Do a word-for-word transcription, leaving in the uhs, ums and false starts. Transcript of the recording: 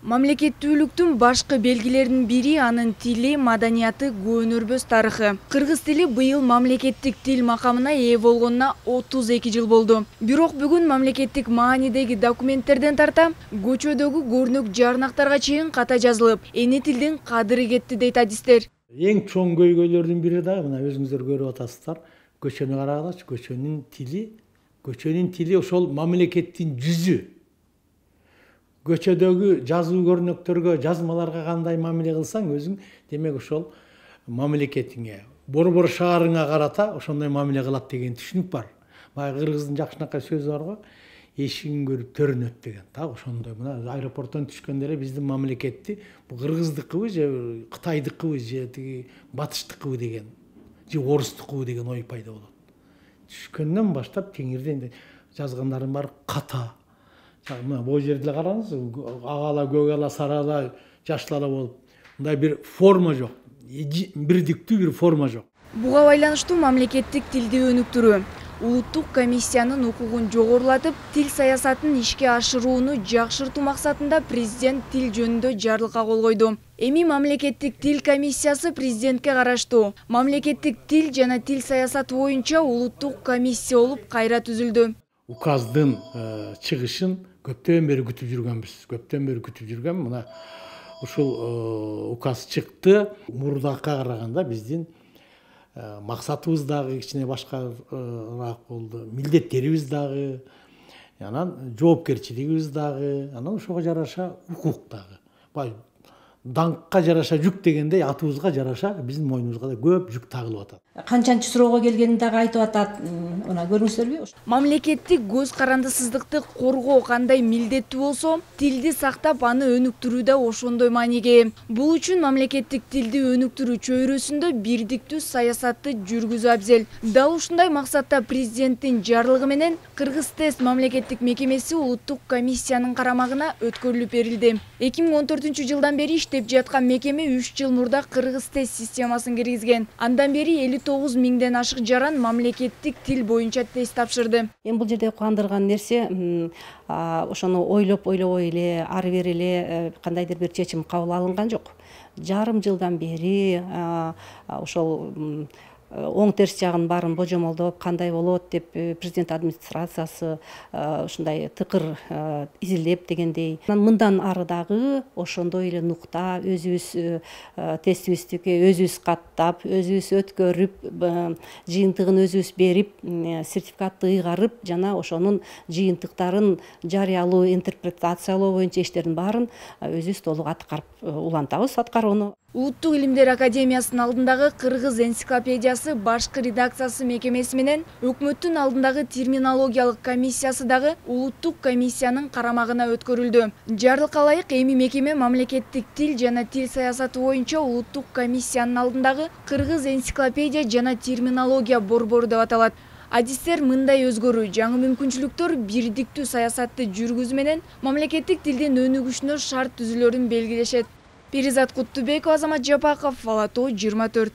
Мамлекеттүүлүктүн башкы белгилеринин бири анын тили, маданияты, көөнөрбөс тарыхы. Кыргыз тили быйыл мамлекеттик тил макамына ээ болгонуна отуз эки жыл болду. Бирок бүгүн мамлекеттик маанидеги документтерден тарта көчөдөгү көрнөк жарнактарга чейин ката жазылып, эне тилдин кадыры кетти дейт адистер. Эң чоң көйгөйлөрдүн бири да мына өзүңүздөр көрүп атасыздар. Көчөнү карагылачы, көчөнүн тили, көчөнүн тили ошол мамлекеттин жүзү. Көчөдөгү жазуу көрнөктөргө, жазмаларга кандай мамиле кылсаң, өзүң демек ошол мамлекетиңе, борбор шаарыңа карата ошондой мамиле кылат деген түшүнүк бар. Баягы кыргыздын жакшынакай сөзү бар го, эшигин көрүп төрүн өт деген. Так ошондой мына аэропорттон түшкөндө эле биздин мамлекетти бу кыргыздыкыбы же кытайдыкыбы же тиги батыштыкыбы деген, же орустукубу деген ой пайда болот. Түшкөндөн баштап теңирден жазгандарым бар ката. Мына бул жерде караңыз, ак ала, көк ала, сары ала, жашыл ала болуп, мындай бир форма жок, бирдиктүү бир форма жок. Буга байланыштуу мамлекеттик тилди өнүктүрүү, улуттук комиссиянын укугун жогорулатып, тил саясатын ишке ашырууну жакшыртуу максатында президент тил жөнүндө жарлыкка кол койду. Эми мамлекеттик тил комиссиясы президентке караштуу мамлекеттик тил жана тил саясаты боюнча улуттук комиссия болуп кайра түзүлдү. Указдын чыгышын көптөн бери күтүп жүргөнбүз. Көптөн бери күтүп жүргөн. Мына ушул указ чыкты. Мурдакка караганда биздин максатыбыз дагы кичине башкараак болду. Милдеттерибиз дагы, анан жоопкерчилигибиз дагы, анан ошого жараша укук дагы. Даңкка жараша жүк дегендей, атыбызга жараша биздин мойнубузга да көп жүк тагылып атат. Канчанчы суроого келгенин дагы айтып атат. Мына көрүңүздөрбү? Мамлекеттик көз карандысыздыкты коргоо кандай милдеттүү болсо, тилди сактап аны өнүктүрүү да ошондой мааниге. Бул үчүн мамлекеттик тилди өнүктүрүү чөйрөсүндө бирдиктүү саясатты жүргүзүү абзел. Дал ушундай максатта президенттин жарлыгы менен Кыргыз тест мамлекеттик мекемеси улуттук комиссиянын карамагына өткөрүлүп берилди. эки миң он төртүнчү жылдан бери иштеп жаткан мекеме үч жыл мурда Кыргыз тест системасын киргизген. Андан бери элүү тогуз миңден ашык жаран мамлекеттик тил боюнча тест тапшырды. Эми бул жерде кубандырган нерсе, ошону ойлоп ойлобой эле, ары бери эле кандайдыр бир чечим кабыл алынган жок. Жарым жылдан бери ошол оң терс жагын баарын божомолдоп, кандай болот деп президент администрациясы ушундай тыкыр изилдеп дегендей. Мындан ары дагы ошондой эле нукта өзүбүз тестибиздики өзүбүз каттап, өзүбүз өткөрүп, жыйынтыгын өзүбүз берип, сертификатты ыйгарып, жана ошонун жыйынтыктарын жарыялоо, интерпретациялоо боюнча иштердин баарын өзүбүз толук аткарып улантабыз аткарууну. Улуттук илимдер академиясынын алдындагы Кыргыз энциклопедиясы башкы редакциясы мекемеси менен өкмөттүн алдындагы терминологиялык комиссиясы дагы улуттук комиссиянын карамагына өткөрүлдү. Жарлыкка ылайык эми мекеме мамлекеттик тил жана тил саясаты боюнча улуттук комиссиянын алдындагы Кыргыз энциклопедия жана терминология борбору деп аталат. Адистер мындай өзгөрүү, жаңы мүмкүнчүлүктөр бирдиктүү саясатты жүргүзүү менен мамлекеттик тилдин өнүгүшүнө шарт түзүлөрүн белгилешет. Перизат Куттубекова, Азамат Жапаков, Ала Тоо жыйырма төрт.